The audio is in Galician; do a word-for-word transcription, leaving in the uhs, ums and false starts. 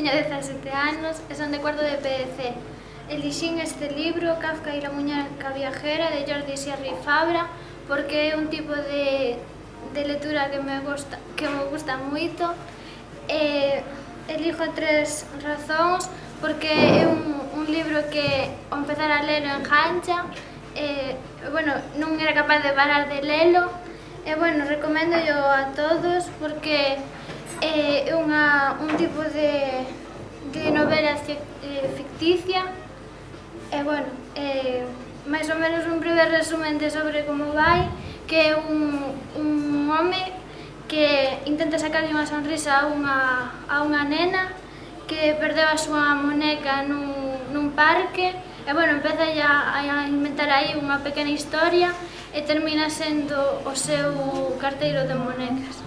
teño dezasete anos e son de cuarto de P D C. Elixín este libro, Kafka e la muñeca viajera, de Jordi Sierra Fabra, porque é un tipo de, de lectura que me gusta, que me gusta moito. E elijo tres razóns, porque é un, un libro que ao empezar a lelo engancha, e, bueno, non era capaz de parar de lelo, e, bueno, recomendo yo a todos porque é unha, un tipo de, de novela ficticia. E, bueno, eh, máis ou menos un breve resumen de sobre como vai, que é un, un home que intenta sacarlle unha sonrisa a unha, a unha nena que perdeu a súa moneca nun, nun parque, e, bueno, empeza a, a inventar aí unha pequena historia e termina sendo o seu carteiro de monecas.